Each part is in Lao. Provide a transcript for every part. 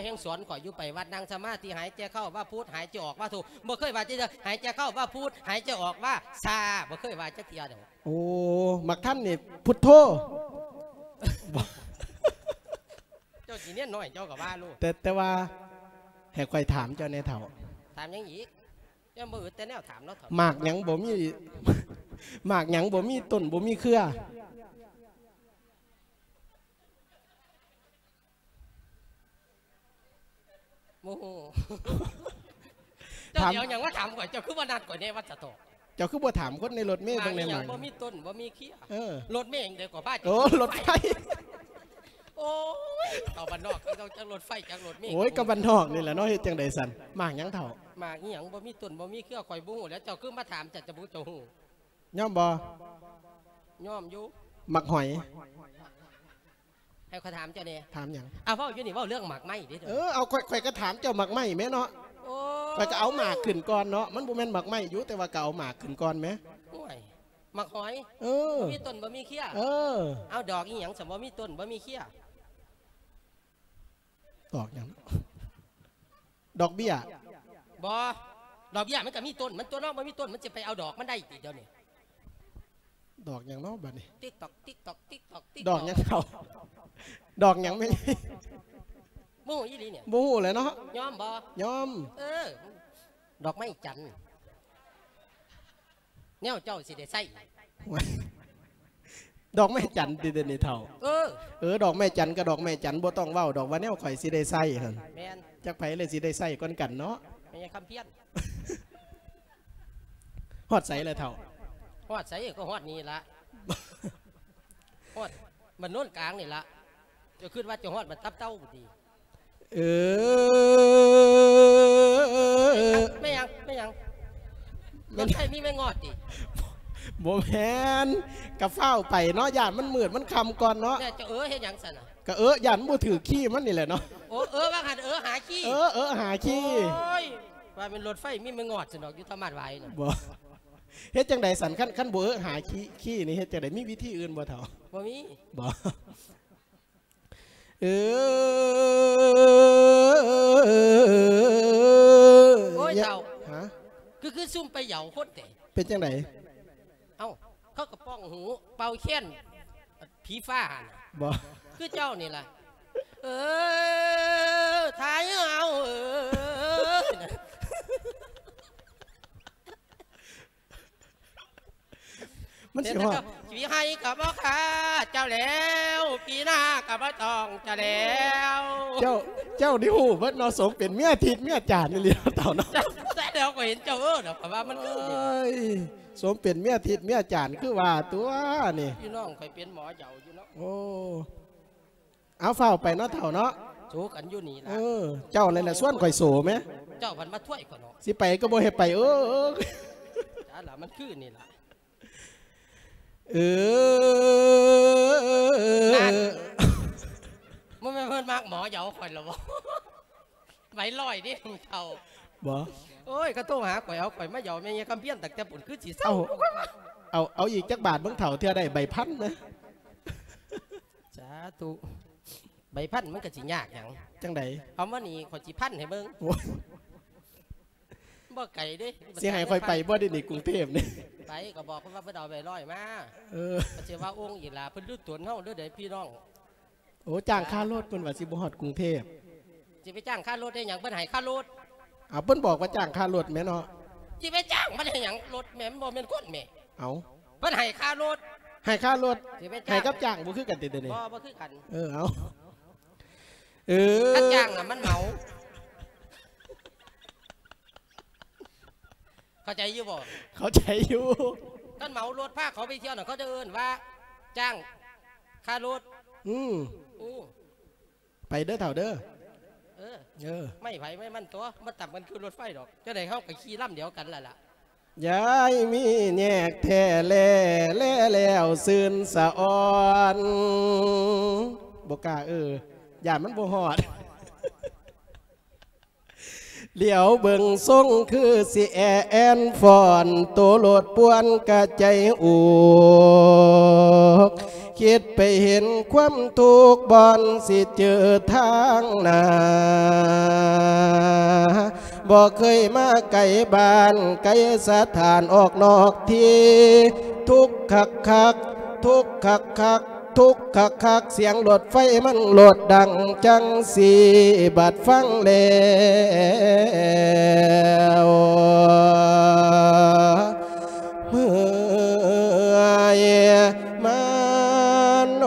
ແຮງສອນຂ້ອຍຢູ່ ໄປວັດນັ່ງສະມາທິ ຫາຍໃຈເຂົ້າວ່າພຸດ ຫາຍໃຈອອກວ່າໂທ ບໍ່ເຄີຍວ່າຈັກເທື່ອ ຫາຍໃຈເຂົ້າວ່າພຸດ ຫາຍໃຈອອກວ່າຊາ ບໍ່ເຄີຍວ່າຈັກເທື່ອດອກ. ໂອ້ ໝາກທັນນີ້ພຸດໂທ. ເຈົ້າຊິເນນນ້ອຍເຈົ້າກໍວ່າໂລດ. ແຕ່ ແຕ່ວ່າໃຫ້ຂ້ອຍຖາມເຈົ້າແດ່ເຖົ້າ. ຖາມຫຍັງອີກ? ຍັງບໍ່ອຶດແຕ່ແນວຖາມເນາະເຖົ້າ. ໝາກຫຍັງບໍ່ມີ ໝາກຫຍັງບໍ່ມີຕົ້ນບໍ່ມີເຄືອ? ໂອ້ໂຫ ເຈົ້າ ຖາມ ຊິເອົາຫຍັງມາຖາມຂ້ອຍ? ເຈົ້າຄືບໍ່ນັດຂ້ອຍແດ່ວ່າຈະຕອບ? ເຈົ້າຄືບໍ່ຖາມຄົນໃນລົດເມເບິ່ງແດ່? ໝາກອີຫຍັງບໍ່ມີຕົ້ນບໍ່ມີເຄືອ? ເອີ ລົດເມຈັ່ງໃດກໍພາ ໂອ້ ລົດໄຟ. ໂອ້ຍ ເຂົ້າບ້ານນອກ ເຈົ້າຈັກລົດໄຟຈັກລົດເມ. ໂອ້ຍ ກໍບ້ານນອກນີ້ແຫຼະເນາະ ເຮັດຈັ່ງໃດຊັ້ນ? ໝາກຫຍັງເຖົ້າ? ໝາກອີຫຍັງບໍ່ມີຕົ້ນບໍ່ມີເຄືອ? ຂ້ອຍບໍ່ຮູ້ແຫຼະ ເຈົ້າຄືມາຖາມ ເຈົ້າຈະບໍ່ເຈົ້າຮູ້. ຍອມບໍ່? ຍອມຢູ່. ໝາກຫອຍ. ໃຫ້ຂ້ອຍຖາມເຈົ້າແດ່. ຖາມຫຍັງ? ອ້າວ ເວົ້າຢູ່ນີ້ເວົ້າເລື່ອງໝາກໄມ້ເດ້. ເອີ ເອົາ ຂ້ອຍ ຂ້ອຍກໍຖາມເຈົ້າໝາກໄມ້ແໝ່ເນາະ. ໂອ້ຍ ຂ້ອຍກໍເອົາໝາກຂຶ້ນກ່ອນເນາະ. ມັນບໍ່ແມ່ນໝາກໄມ້ຢູ່ ແຕ່ວ່າກໍເອົາໝາກຂຶ້ນກ່ອນແໝ່. ໂອ້ຍ ໝາກຫອຍ. ເອີ ບໍ່ມີຕົ້ນບໍ່ມີເຄືອ. ເອີ ເອົາ ດອກອີຫຍັງຊັ້ນ ບໍ່ມີຕົ້ນບໍ່ມີເຄືອ? ດອກຫຍັງ? ດອກເບ້ຍ. ບໍ່ ດອກເບ້ຍມັນກໍມີຕົ້ນມັນຕົວະເນາະ ບໍ່ມີຕົ້ນມັນຊິໄປເອົາດອກມັນໄດ້ຕິດຽວນີ້. ດອກຫຍັງເນາະບັດນີ້? ຕິກຕອກ ຕິກຕອກ ຕິກຕອກ ຕິກຕອກ. ດອກຫຍັງເຖົ້າ? ດອກຫຍັງແມ່? ບໍ່ຮູ້ອີ່ຫຼີນີ້. ບໍ່ຮູ້ແຫຼະເນາະ. ຍອມບໍ່? ຍອມ. ເອີ ດອກໄມ້ຈັນ ແນວເຈົ້າຊິໄດ້ໃຊ້. ດອກໄມ້ຈັນຕິດຽວນີ້ເຖົ້າ? ເອີ ເອີ ດອກໄມ້ຈັນກໍດອກໄມ້ຈັນ ບໍ່ຕ້ອງເວົ້າດອກວ່າແນວຂ້ອຍຊິໄດ້ໃຊ້ຫັ້ນ. ແມ່ນ. ຈັກໃຜແຫຼະຊິໄດ້ໃຊ້ກ່ອນກັນເນາະ. ແມ່ນຄຳພຽນ. ຮອດໃສລະເຖົ້າ? ຮອດໃສກໍຮອດນີ້ລະ ຮອດບ້ານໂນນກາງນີ້ລະ. ເຈົ້າຄິດວ່າເຈົ້າຮອດບ້ານຕັບເຕົ້າພຸ້ນຕິ? ເອີ ແມ່ນຫຍັງ? ແມ່ນຫຍັງ? ແມ່ນ ລົດໄຟມີແມ່ງອດຕິ? ບໍ່ແມ່ນ ກະຟ້າວໄປເນາະ ຢ້ານມັນມືດມັນຄ່ຳກ່ອນເນາະ. ແມ່ນ ເຈົ້າເອີເຮັດຫຍັງຊັ້ນນະ? ກະເອີ ຢ້ານບໍ່ຖືກຄີ້ມັນນີ້ແຫຼະເນາະ. ໂອ້ ເອີວ່າຫັ້ນ ເອີຫາຄີ້. ເອີ ເອີຫາຄີ້. ໂອ້ຍ ວ່າແມ່ນລົດໄຟມີແມ່ງອດຊັ້ນດອກ ຢູ່ທາມມາດວາຍນະ. ບໍ່ ເຮັດຈັ່ງໃດຊັ້ນ? ຄັນ ຄັນບໍ່ເອີຫາຄີ້ ຄີ້ນີ້ເຮັດຈັ່ງໃດ? ມີວິທີອື່ນບໍ່ເຖົ້າ? ບໍ່ມີ. ບໍ່. ເອີ ໂອ້ຍ ເຖົ້າ ຮະ? ຄື ຄືຊຸ່ມໄປເຍົາຄົນແທ້. ເປັນຈັ່ງໃດ? ເອົ້າ ເຂົາກໍປ່ອງຫູ ເປົ່າແຄນ ຜີຟ້າຫັ້ນ. ບໍ່. ຄືເຈົ້ານີ້ລະ. ເອີ ຖ້າເຮົາ ເອີ. ມັນຊິຮອດ ປີໃຫ້ກໍບໍ່ຄ່າເຈົ້າແລ້ວ ປີໜ້າກໍບໍ່ຕ້ອງເຈົ້າແລ້ວ. ເຈົ້າ ເຈົ້ານີ້ຮູ້ເບິດເນາະ ສົມເປັນເມຍທິດເມຍຈານອີ່ຫຼີເນາະ ເຖົ້າເນາະ. ແຕ່ແລ້ວກໍເຫັນເຈົ້າເອີ້ນດອກ ກໍວ່າມັນຄື. ໂອ້ຍ ສົມເປັນເມຍທິດເມຍຈານ ຄືວ່າຕົວະນີ້. ພີ່ນ້ອງຂ້ອຍເປັນໝໍເຍົາຢູ່ເນາະ. ໂອ້ ເອົາ ຟ້າວໄປເນາະເຖົ້າເນາະ. ໂສກັນຢູ່ນີ້ລະ. ເອີ ເຈົ້າແຫຼະ ຊວນຂ້ອຍໂສແມ. ເຈົ້າພັດມາຖ້ວຍຂ້ອຍເນາະ. ຊິໄປກໍບໍ່ໃຫ້ໄປ ເອີ ເອີ. ຈ້າລະ ມັນຄືນີ້ລະ. ເອີ ນັ້ນ ບໍ່ແມ່ນເພິ່ນມັກໝໍເຍົາຂ້ອຍລະບໍ? ໃບຮ້ອຍເດ້ເຖົ້າ. ບໍ່. ໂອ້ຍ ເຂົາໂທຫາຂ້ອຍ ເອົາຂ້ອຍມາເຍົາແມ່ຍາຄຳພຽນຕັ້ງແຕ່ພຸ້ນ ຄືຊິເຊົາ. ເອົາ ເອົາ ເອົາອີກຈັກບາດເບິ່ງເຖົ້າ ເທື່ອໄດ້ໃບພັນນະ. ສາທຸ. ໃບພັນມັນກໍຊິຍາກຫຍັງ? ຈັ່ງໃດ? ເອົາມານີ້ ຂ້ອຍຊິພັນໃຫ້ເບິ່ງ. ໂອ້ຍ ບໍ່ໄກເດ້. ຊິໃຫ້ຂ້ອຍໄປບໍ່ເດນີ້ ກຸງເທບນີ້? ໄປ ກໍບອກເພິ່ນວ່າເພິ່ນເອົາໃບຮ້ອຍມາ. ເອີ ກໍຊິວ່າອົງອີກລະ ເພິ່ນຮູ້ຕົນເຮົາເດີໃດ໋ພີ່ນ້ອງ. ໂອ້ ຈ້າງຄ່າລົດ ເພິ່ນວ່າຊິບໍ່ຮອດກຸງເທບ. ຊິໄປຈ້າງຄ່າລົດເຮັດຫຍັງ? ເພິ່ນໃຫ້ຄ່າລົດ. ເອົາ ເພິ່ນບອກວ່າຈ້າງຄ່າລົດແມ່ນເນາະ. ຊິໄປຈ້າງມັນເຮັດຫຍັງ? ລົດແມ່ນບໍ່ແມ່ນຄົນແມ່. ເອົາ ເພິ່ນໃຫ້ຄ່າລົດ. ໃຫ້ຄ່າລົດ. ຊິໄປຈ້າງ ໃຫ້ກັບຈ້າງບໍ່ຄືກັນຕິດຽວນີ້? ບໍ່ ບໍ່ຄືກັນ. ເອີ ເອົາ ເອີ ຄັນຈ້າງນະມັນເໝົາ. ເຂົ້າໃຈຢູ່ບໍ່? ເຂົ້າໃຈຢູ່. ຄັນເໝົາລົດພາເຂົາໄປທ່ຽວນະ ເຂົາຈະເອີ້ນວ່າຈ້າງຄ່າລົດ. ອືມ ອືມ. ໄປເດີເຖົ້າເດີ. ເອີ ເອີ ໄມ້ໃຜໄມ້ມັນຕົວະ ມັນຕ່ຳກັນຄືລົດໄຟດອກ. ຈັ່ງໃດເຮົາກໍຂີ່ລຳດຽວກັນລະລະ. ຢ່າໃຫ້ມີແຍກແທ້ແລ ແລແລ້ວຊື່ນສະອອນ. ບໍ່ກ້າເອີ ຢ້ານມັນບໍ່ຮອດ. ຫຼຽວເບິ່ງຊົງຄືຊິແອແອນຟອນ ໂຕລົດປ່ວນກະໃຈອວກ. ຄິດໄປເຫັນຄວາມທຸກ ບ່ອນຊິເຈີທາງໜ້າ ບໍ່ເຄີຍມາໄກບ້ານໄກສະຖານ ອອກນອກທີ່ ທຸກຄັກໆ ທຸກຄັກໆ ທຸກຄັກໆ ສຽງລົດໄຟມັນໂລດດັງຈັ່ງຊີ້ ບັດຟັງແລ້ວ ເມື່ອຍມານໂອ.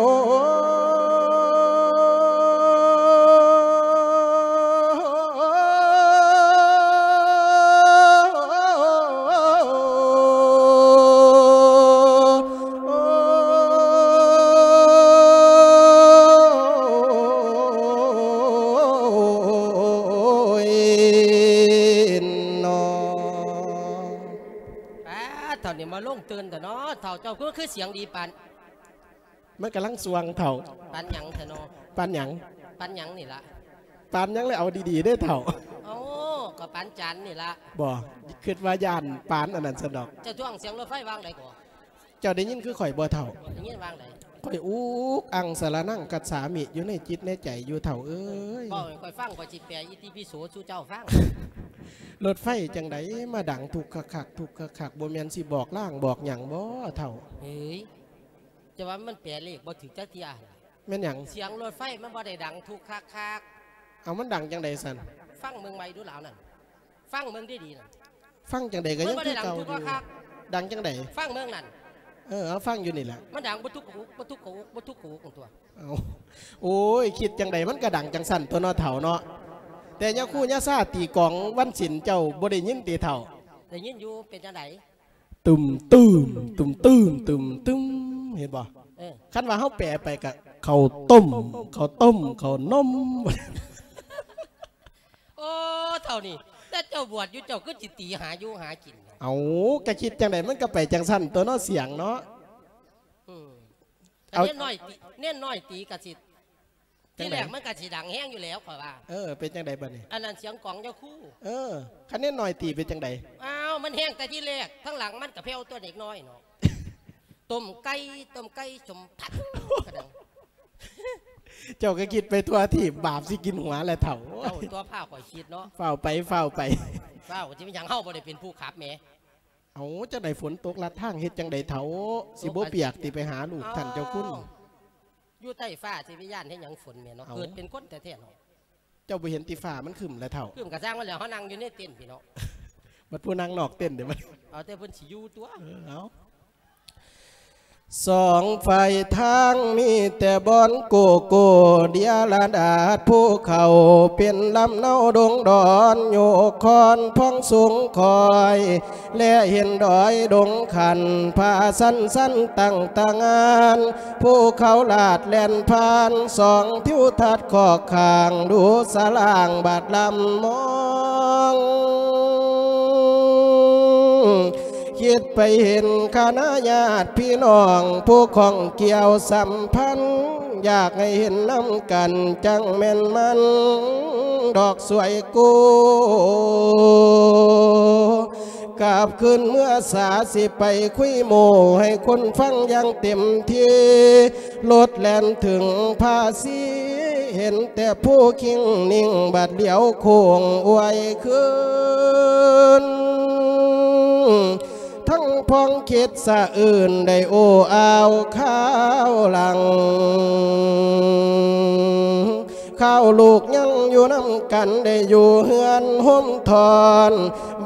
ເຖົ້ານີ້ມາລົງຕື່ນແທ້ເນາະ ເຖົ້າເຈົ້າຄື ຄືສຽງດີປານ ມັນກຳລັງສ່ວງເຖົ້າ. ປານຫຍັງແທ້ເນາະ? ປານຫຍັງ? ປານຫຍັງນີ້ລະ? ປານຫຍັງແລ້ວ ເອົາດີໆເດ້ເຖົ້າ. ເອົາ ກໍປານຈັນນີ້ລະ. ບໍ່ ຄິດວ່າຢ້ານປານອັນນັ້ນຊັ້ນດອກ. ເຈົ້າທ້ວງສຽງລົດໄຟວ່າງໃດກໍ? ເຈົ້າໄດ້ຍິນຄືຂ້ອຍບໍ່ເຖົ້າ? ໄດ້ຍິນວ່າງໃດ? ຂ້ອຍອຸກອັ່ງສະລະນັງກັດສາມິ ຢູ່ໃນຈິດໃນໃຈຢູ່ເຖົ້າເອີຍ. ເວົ້າໃຫ້ຂ້ອຍຟັງ ຂ້ອຍຊິແປອິຕິປິໂສສູ່ເຈົ້າຟັງ. ລົດໄຟຈັ່ງໃດມາດັງທຸກຄັກໆ ທຸກຄັກໆ ບໍ່ແມ່ນຊິບອກລາງບອກຫຍັງບໍ່ເຖົ້າ? ເອີຍ ຈະວ່າມັນແປເລກບໍ່ຖືກຈັກເທື່ອ. ແມ່ນຫຍັງ? ສຽງລົດໄຟມັນບໍ່ໄດ້ດັງທຸກຄັກໆ. ເອົາ ມັນດັງຈັ່ງໃດຊັ້ນ? ຟັງເບິ່ງໃໝ່ດູລາວນັ້ນ ຟັງເບິ່ງດີໆນັ້ນ. ຟັງຈັ່ງໃດກໍຍັງຄືເກົ່າຢູ່. ມັນບໍ່ໄດ້ດັງທຸກຄັກໆ. ດັງຈັ່ງໃດ? ຟັງເບິ່ງນັ້ນ. ເອີ ເອົາ ຟັງຢູ່ນີ້ແຫຼະ. ມັນດັງບໍ່ທຸກກະອຸກ ບໍ່ທຸກກະອຸກ ບໍ່ທຸກກະອຸກ ບໍ່ຕົວະ. ເອົາ ໂອ້ຍ ຄິດຈັ່ງໃດມັນກໍດັງຈັ່ງຊັ້ນຕົວເນາະເຖົ້າເນາະ. ແຕ່ຍາຄູຍາຊາຕີກອງວັນສິນເຈົ້າບໍ່ໄດ້ຍິນຕິເຖົ້າ? ໄດ້ຍິນຢູ່. ເປັນຈັ່ງໃດ? ຕຶມ ຕຶມ ຕຶມ ຕຶມ ຕຶມ ຕຶມ ເຫັນບໍ່? ເອີ ຄັນວ່າເຮົາແປໄປກະ ເຂົ້າຕົ້ມ ເຂົ້າຕົ້ມ ເຂົ້ານົມ. ໂອ້ ເຖົ້ານີ້ ແຕ່ເຈົ້າບວດຢູ່ ເຈົ້າຄືຊິຕີຫາຢູ່ຫາກິນ. ເອົາ ກະຄິດຈັ່ງໃດມັນກະໄປຈັ່ງຊັ້ນຕົວເນາະ ສຽງເນາະ. ອືມ ເອົາ ເນນນ້ອຍຕີ ເນນນ້ອຍຕີກະຊິ ຈັ່ງໃດ? ທີແລກມັນກະຊິດັງແຮງຢູ່ແລ້ວຂ້ອຍວ່າ. ເອີ ເປັນຈັ່ງໃດບາດນີ້? ອັນນັ້ນສຽງກອງຍາຄູ. ເອີ ຄັນເນນນ້ອຍຕີເປັນຈັ່ງໃດ? ອ້າວ ມັນແຮງແຕ່ທີແລກ ທາງຫຼັງມັນກະແຜ່ວຕົວເດັກນ້ອຍເນາະ. ຕົ້ມໄກ່ ຕົ້ມໄກ່ສົມພັດກະດັງ. ເຈົ້າກະຄິດໄປທົ່ວທີບ ບາບຊິກິນຫົວແຫຼະເຖົ້າ. ເຈົ້າຕົວະພາຂ້ອຍຄິດເນາະ. ຟ້າວໄປ ຟ້າວໄປ ຟ້າວ ຊິເປັນຫຍັງ ເຮົາບໍ່ໄດ້ເປັນຜູ້ຂັບແໝ. ເອົາ ຈັ່ງໃດຝົນຕົກລັດທາງເຮັດຈັ່ງໃດເຖົ້າ? ຊິບໍ່ປຽກຕິໄປຫາລູກທ່ານເຈົ້າຄຸນ? ຢູ່ໃຕ້ຟ້າຊິໄປຢ້ານເຮັດຫຍັງຝົນແໝເນາະ. ເອີາ ເກີດເປັນຄົນແທ້ໆເນາະ. ເຈົ້າບໍ່ເຫັນຕິຟ້າມັນຄຶ້ມແລ້ວເຖົ້າ? ຄຶ້ມກະຊ່າງມັນແຫຼະ ເຮົານັ່ງຢູ່ໃນເຕັນພີ້ເນາະ. ບັດຜູ້ນັ່ງນອກເຕັນເດ້ບັດ. ເອົາແຕ່ເພິ່ນຊິຢູ່ຕົວະ. ເອີ ເອົາ ສອງຝ່າຍທາງມີແຕ່ບ່ອນໂກໂກ້ ເດຍລະດາດພູເຂົາ ເປັນລຳເນົາດົງດອນ ໂຍກຄອນພອງສູງຄອຍ ແລເຫັນດອຍດົງຂັນ ຜາຊັນຊັນຕັ້ງຕາງານ ພູເຂົາລາດແລ່ນຜ່ານ ສອງທິວທັດຂອກຂ້າງ ດູສະຫຼາງບາດລຳມອງ ຄິດໄປເຫັນຄະນະຍາດພີ່ນ້ອງ ຜູ້ຂ້ອງກ່ຽວສຳພັນ ຢາກໃຫ້ເຫັນນຳກັນ ຈັ່ງແມ່ນມັນດອກສວຍກູ ກັບຄືນເມືອສາ ຊິໄປຄຸຍໂມ້ໃຫ້ຄົນຟັງຢ່າງເຕັມທີ່ ລົດແລ່ນເຖິງພາສີ ເຫັນແຕ່ພູຄິງນິ່ງ ບາດຫຼຽວໂຄ້ງອວຍຄືນ ທັງພອງຄິດສະອື່ນ ໄດ້ໂອ້ອາວຄາວຫຼັງ ຄາວລູກຍັງຢູ່ນຳກັນ ໄດ້ຢູ່ເຮືອນໂຮມທອນ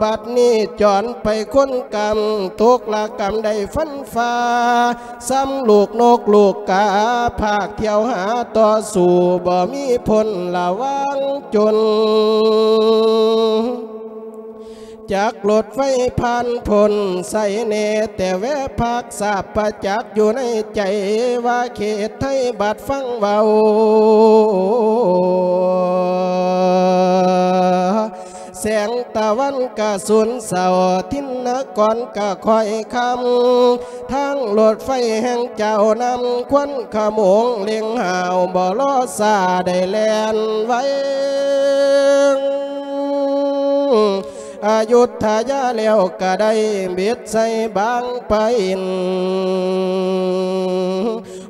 ບັດນີ້ຈອນໄປຄົນກຳ ຕົກລະກຳໄດ້ຟັນຟ້າ ຊ້ຳລູກນົກລູກກາ ພາກທ່ຽວຫາຕໍ່ສູ້ ບໍ່ມີພົ້ນລະຫວ່າງຈົນ ຈັກລົດໄຟຜ່ານພົ້ນ ໃສ່ແນ່ແຕ່ແວະພັກ ສາບປະຈັກຢູ່ໃນໃຈ ວ່າເຂດໄທບັດຟັງເວົ້າ ແສງຕາວັນກະສູນເສົ້າ ທິນນະກອນກະຄ່ອຍຄ່ຳ ທາງລົດໄຟແຫ່ງເຈົ້ານຳ ຄວັນຂະໂໝງເລັ່ງຫ້າວ ບໍ່ລໍຊ້າໄດ້ແລ່ນໄວ ອະຍຸດທະຍາແລ້ວກະໄດ້ ບິດໃສ່ບາງປະອິນ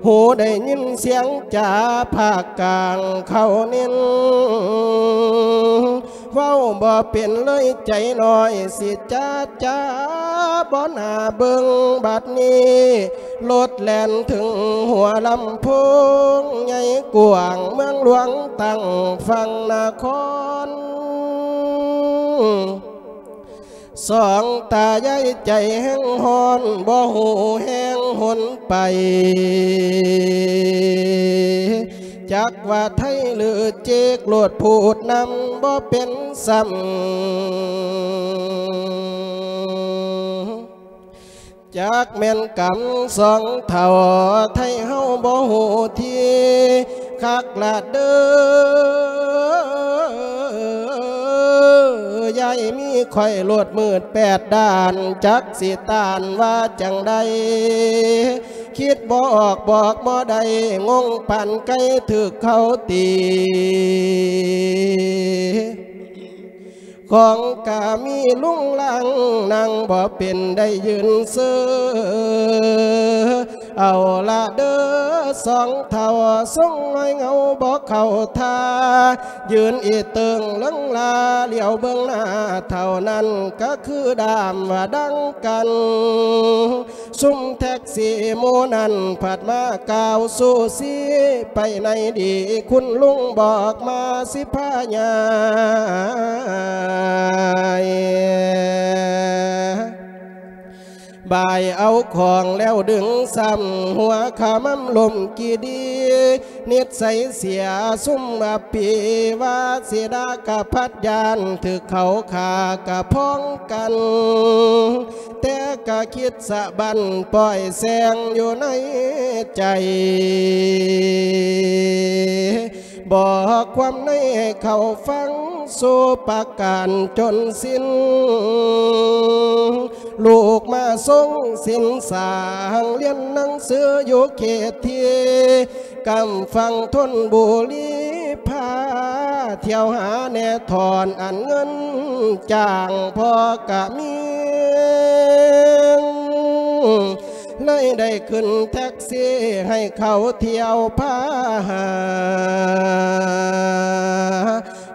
ຮູ້ໄດ້ຍິນສຽງຈາພາກກາງເຂົາເນັ້ນ ເວົ້າບໍ່ເປັນເລີຍໃຈນ້ອຍ ຊິຈາຈາບໍ່ໜ້າເບິ່ງບັດນີ້ ລົດແລ່ນເຖິງຫົວລຳໂພງໃຫຍ່ກວ້າງ ເມືອງຫຼວງຕັ້ງຝັ່ງນະຄອນ. ສອງຕາຍາຍໃຈແຮງຮ້ອນ ບໍ່ຮູ້ແຮງຫົນໄປ ຈັກວ່າໄທຫຼືເຈກ ໂລດພູດນຳບໍ່ເປັນຊ້ຳ ຈັກແມ່ນກຳສອງເຖົ້າ ໄທເຮົາບໍ່ຮູ້ທີ່ຄັກລະເດີ້ ຍາຍມີຂ້ອຍໂລດມືດແປດດ້ານ ຈັກຊິຕ້ານວ່າຈັ່ງໃດ ຄິດບໍ່ອອກບອກບໍ່ໄດ້ ງົງປານໄກ່ຖືກເຂົາຕີ. ຂອງກະມີລຸງລັງ ນັ່ງບໍ່ເປັນໄດ້ຢືນເຊີ ເອົາລະເດີ້ສອງເຖົ້າ ຊົງນ້ອຍເຫງົາບໍ່ເຂົ້າທ່າ ຢືນອີເຕີງເລິງລາ ຫຼຽວເບິ່ງໜ້າເທົ່ານັ້ນ ກະຄືດ້າມວ່າດັງກັນ. ຊຸມແທັກຊີໝູ່ນັ້ນ ພັດມາກ່າວຊູຊີ ໄປໃນດີ ຄຸນລຸງບອກມາຊິພາຍາຍ ບາຍເອົາຂອງແລ້ວດຶງຊ້ຳ ຫົວຂະມຳລົມກີດີ ນິດໄສເສຍຊຸມອະປີ ວາສິດາກະພັດຢ້ານ ຖືກເຂົາຂ້າກະພ້ອງກັນ ແຕ່ກະຄິດສະບັນ ປ່ອຍແຊງຢູ່ໃນໃຈ ບອກຄວາມໃນໃຫ້ເຂົາຟັງ ສູ່ປະການຈົນສິ້ນ ລູກມາຊົງສິນສາງ ຮຽນໜັງສືຢູ່ເຂດທີ່ ກຳຝັ່ງທົນບູລີ ພາທ່ຽວຫາແນ່ຖອນອັນເງິນຈ້າງພໍ່ກະມີ ເລີຍໄດ້ຂຶ້ນແທັກຊີ ໃຫ້ເຂົາທ່ຽວພາຫາ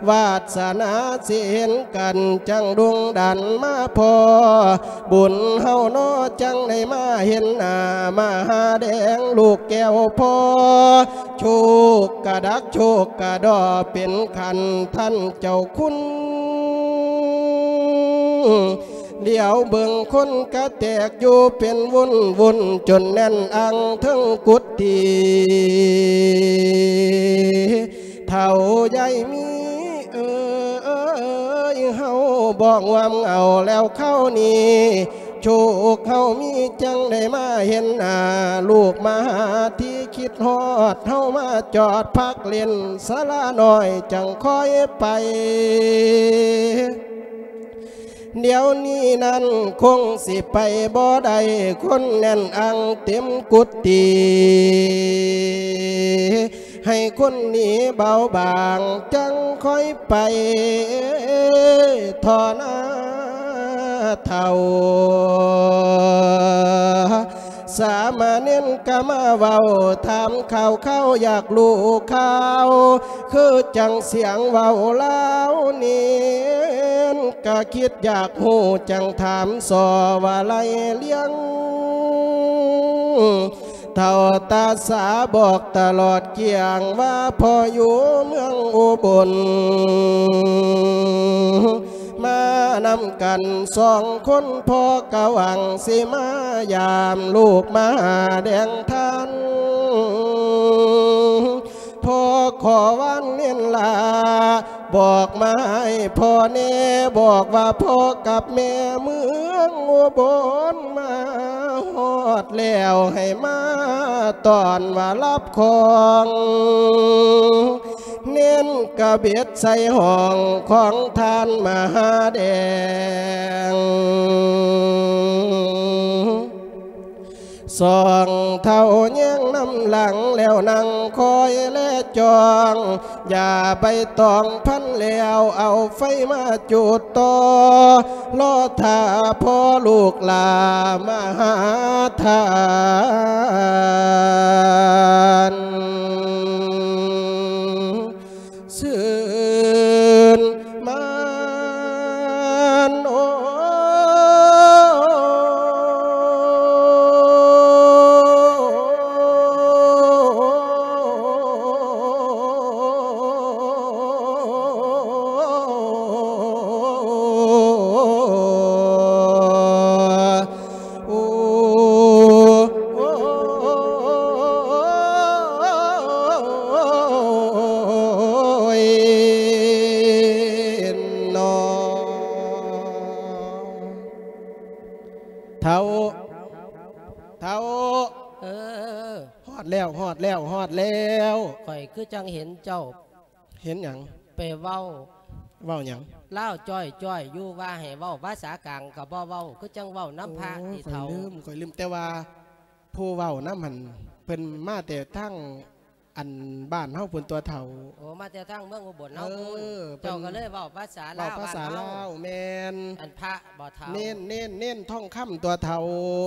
ວາດສະໜາຊິເຫັນກັນ ຈັ່ງດຸງດັນມາພໍ້ ບຸນເຮົານໍ ຈັ່ງໄດ້ມາເຫັນໜ້າມະຫາແດງ ລູກແກ້ວພໍ່ ໂຊກກະດັກໂຊກກະດໍ ເປັນຂັ້ນທ່ານເຈົ້າຄຸນ ຫຼຽວເບິ່ງຄົນກະແຕກຢູ່ເປັນວຸ້ນໆ ຈົນແໜ້ນອັ່ງເທິງກຸດຕີ ເຖົ້າຍາຍມີເອີຍ ເຮົາບໍ່ງວມເຫງົາແລ້ວຄາວນີ້ ໂຊກເຮົາມີຈັ່ງໄດ້ມາເຫັນໜ້າ ລູກມາຫາທີ່ຄິດຮອດ ເຮົາມາຈອດພັກຫຼິ້ນສາລານ້ອຍ ຈັ່ງຄ່ອຍໄປ ດຽວນີ້ນັ້ນຄົງຊິໄປບໍ່ໄດ້ ຄົນແໜ້ນອັ່ງເຕັມກຸດຕີ ໃຫ້ຄົນໜີເບົາບາງ ຈັ່ງຄ່ອຍໄປ ທໍ່ໜ້າເຖົ້າ. ສາມະເນນກະມາເວົ້າ ຖາມຂ່າວຄາວ ຢາກຮູ້ຂ່າວ ຄືຈັ່ງສຽງເວົ້າລາວ ເນນກະຄິດຢາກຮູ້ ຈັ່ງຖາມສໍ່ວ່າໄລ່ລຽງ ເຖົ້າຕາສາບອກຕະຫຼອດກ້ຽງ ວ່າພໍ່ຢູ່ເມືອງອຸບົນ ມານຳກັນສອງຄົນ ພໍ່ກະຫວັງຊິມາຢາມ ລູກມາຫາແດງທ່ານ ພໍ່ຂໍວານເນນລາ ບອກມາໃຫ້ພໍ່ແດ່ ບອກວ່າພໍ່ກັບແມ່ເມືອງອຸບົນ ມາຮອດແລ້ວໃຫ້ມາຕ້ອນວ່າຮັບຂອງ ເນນກະເບັດໃສ່ຫ້ອງຂອງທ່ານມະຫາແດງ ສອງເຖົ້າແຍງນຳຫຼັງແລ້ວນັ່ງຄອຍແລຈ້ອງ ຢາໃບຕອງພັນແລ້ວເອົາໄຟມາຈູດຕໍ່ ລໍຖ້າພໍ່ລູກຫຼ້າມາຫາທ່ານ ຊື່ນໝານ ໂອຍ. ໂອ້ຍ ເນາະ ເຖົ້າ ເຖົ້າ ເອີ ຮອດແລ້ວ ຮອດແລ້ວ ຮອດແລ້ວ ຂ້ອຍຄືຈັ່ງເຫັນເຈົ້າ ເຫັນຫຍັງ? ໄປເວົ້າ ເວົ້າຫຍັງ? ລາວຈ້ອຍໆ ຢູ່ ວ່າໃຫ້ເວົ້າພາສາກາງກໍບໍ່ເວົ້າ ຄືຈັ່ງເວົ້ານຳພະ ໂອ້ຍ ຕິເຖົ້າ ຂ້ອຍລືມ ຂ້ອຍລືມ ແຕ່ວ່າຜູ້ເວົ້ານຳຫັ້ນ ເພິ່ນມາແຕ່ທາງ ອັນ ບ້ານເຮົາພຸ້ນຕົວະເຖົ້າ ໂອ້ ມາແຕ່ທາງເມືອງອຸບົນເຮົາພຸ້ນ ເອີ ເຈົ້າກໍເລີຍເວົ້າພາສາລາວ ເວົ້າພາສາລາວ ບ້ານເຮົາ ແມ່ນ ອັນພະບໍ່ເຖົ້າ ເນນ ເນນ ເນນທອງຄຳຕົວະເຖົ້າ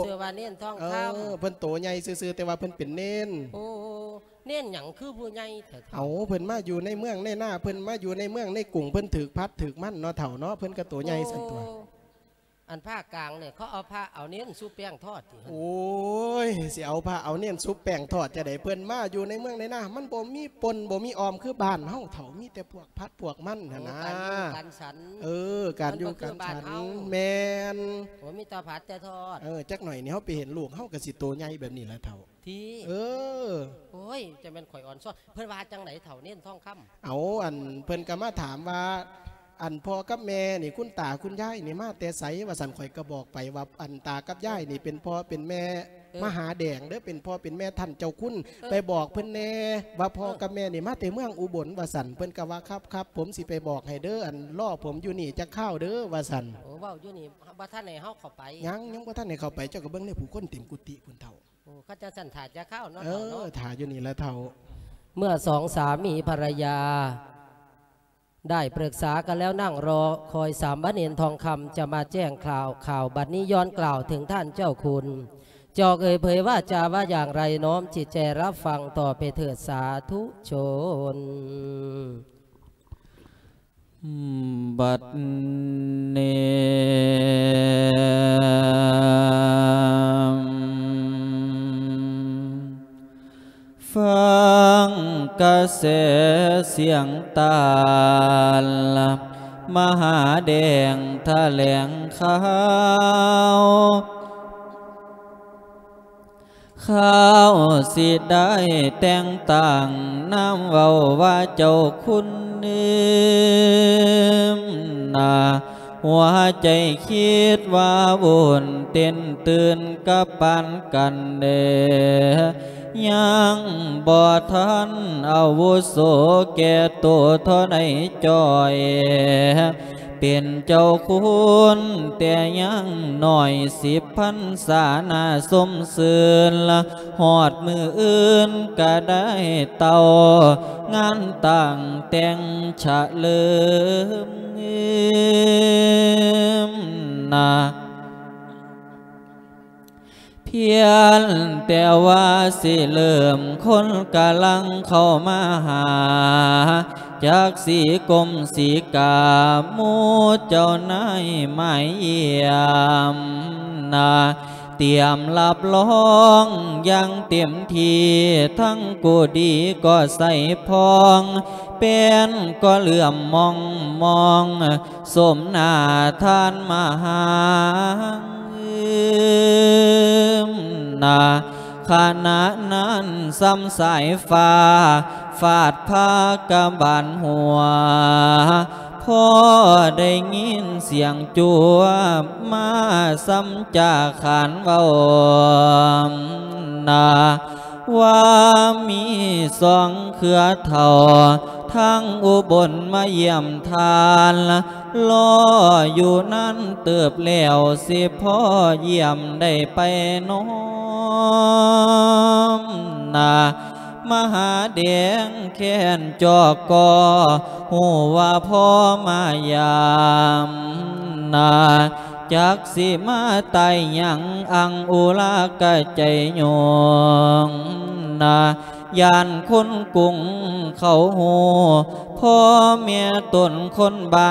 ຊື່ວ່າເນນທອງຄຳ ເອີ ເພິ່ນໂຕໃຫຍ່ຊື່ໆ ແຕ່ວ່າເພິ່ນເປັນເນນ ໂອ້ ເນນຫຍັງຄືຜູ້ໃຫຍ່ແທ້ເຖົ້າ? ເອົາ ເພິ່ນມາຢູ່ໃນເມືອງໃນນາ ເພິ່ນມາຢູ່ໃນເມືອງໃນກຸງ ເພິ່ນຖືກຜັດຖືກມັນເນາະເຖົ້າເນາະ ເພິ່ນກໍໂຕໃຫຍ່ຊັ້ນຕົວະ ໂອ້ ອັນພາກກາງນີ້ ເຂົາເອົາພະເອົາເນນຊຸບແປ້ງທອດຕິ? ໂອ້ຍ ຊິເອົາພະເອົາເນນຊຸບແປ້ງທອດຈັ່ງໃດ? ເພິ່ນມາຢູ່ໃນເມືອງໃນນາ ມັນບໍ່ມີປົ່ນບໍ່ມີອອມຄືບ້ານເຮົາເຖົ້າ ມີແຕ່ພວກຜັດພວກມັນຫັ້ນນະ ໂອ້ ການຢູ່ການສັນ ເອີ ການຢູ່ການສັນ ມັນບໍ່ຄືບ້ານເຮົາ ແມ່ນ ໂອ້ ມີແຕ່ຜັດແຕ່ທອດ ເອີ ຈັກໜ້ອຍນີ້ເຮົາໄປເຫັນລູກເຮົາກໍຊິໂຕໃຫຍ່ແບບນີ້ລະເຖົ້າ ຕິ ເອີ ໂອ້ຍ ຈະແມ່ນຂ້ອຍອ່ອນຊອນ ເພິ່ນວ່າຈັ່ງໃດເຖົ້າ ເນນທອງຄຳ? ເອົາ ອັນ ເພິ່ນກໍມາຖາມວ່າ ອັນ ພໍ່ກັບແມ່ນີ້ ຄຸນຕາຄຸນຍາຍນີ້ມາແຕ່ໃສ ວ່າຊັ້ນ ຂ້ອຍກໍບອກໄປວ່າ ອັນ ຕາກັບຍາຍນີ້ເປັນພໍ່ເປັນແມ່ ເອີ ມະຫາແດງເດີ້ ເປັນພໍ່ເປັນແມ່ທ່ານເຈົ້າຄຸນ ເອີ ໄປບອກເພິ່ນແດ່ວ່າ ເອີ ພໍ່ກັບແມ່ນີ້ມາແຕ່ເມືອງອຸບົນ ວ່າຊັ້ນ ເພິ່ນກໍວ່າ ຄັບໆ ຜົມຊິໄປບອກໃຫ້ເດີ້ ອັນ ລໍຜົມຢູ່ນີ້ຈັກຄາວເດີ້ ວ່າຊັ້ນ ໂອ້ ເວົ້າຢູ່ນີ້ ບໍ່ທັນໃຫ້ເຮົາເຂົ້າໄປ ຍັງ ຍັງບໍ່ທັນໃຫ້ເຂົ້າໄປ ເຈົ້າກໍເບິ່ງແດ່ ຜູ້ຄົນເຕັມກຸຕິພຸ້ນເຖົ້າ ໂອ້ ຄັນຈັ່ງຊັ້ນຖ້າຈັກຄາວເນາະ ເອີ ເຖົ້າເນາະ ຖ້າຢູ່ນີ້ລະເຖົ້າ ເມື່ອສອງສາມີພັນລະຍາໄດ້ປຶກສາກັນແລ້ວນັ່ງລໍຄອຍສາມມະເນນທອງຄຳຈະມາແຈ້ງຂ່າວ ຂ່າວບັດນີ້ຍ້ອນກ່າວເຖິງທ່ານເຈົ້າຄຸນ ຈອກເອີຍເຜີຍວ່າຈາວ່າຢ່າງໃດ ນ້ອມຈິດໃຈຮັບຟັງຕໍ່ໄປເຖີດ ສາທຸຊົນ. ບັດນີ້ ຟັງກະແສສຽງຕານ ມະຫາແດງຖະແຫຼງຂ່າວ ຂ່າວຊິໄດ້ແຕ່ງຕັ້ງນາມເວົ້າວ່າເຈົ້າຄຸນນາ ຫົວໃຈຄິດວ່າວຸ່ນເຕັ້ນຕື່ນກັບປານກັນແດ່ ຍັງບໍ່ທັນອາວຸໂສແກ່ໂຕທໍ່ໃດຈ່ອຍ ເປັນເຈົ້າຄຸນແຕ່ຍັງນ້ອຍ ສິບພັນສາໜ້າຊົມຊື່ນ ຮອດມື້ອື່ນກະໄດ້ເຕົ້າ ງານຕັ້ງແຕ່ງຊະເລີມນາ. ພຽງແຕ່ວ່າຊິເລີ່ມ ຄົນກຳລັງເຂົ້າມາຫາ ຈັກສີກົມສີກາ ໝູ່ເຈົ້ານາຍມາຢ້ຽມນາ ຕຽມຮັບຮອງຢ່າງເຕັມທີ່ ທັງກູດີກໍໃສ່ພອງ ແປ້ນກໍເຫຼື້ອມມອງມອງ ສົມໜ້າທ່ານມະຫາ ນາ ຂະນະນັ້ນສ່ຳສາຍຟ້າ ຟາດພາກະບານຫົວ ພໍໄດ້ຍິນສຽງຈົວ ມາສ່ຳຈາຂານເວົ້າ ນາ ວ່າມີສອງເຄືອເຖົ້າ ທາງອຸບົນມາຢ້ຽມທ່ານ ລໍຢູ່ນານເຕີບແລ້ວ ຊິພໍຢ້ຽມໄດ້ໄປນໍ. ອມນາ ມະຫາແດງແຄ້ນຈອກກໍ ຮູ້ວ່າພໍ່ມາຢາມນາ ຈັກຊິມາໄຕ່ຫຍັງ ອັງອຸລາກະໃຈຍອງນາ ຢ້ານຄົນກຸງເຂົາຮູ້ ພໍ່ແມ່ຕົນຄົນບ້ານ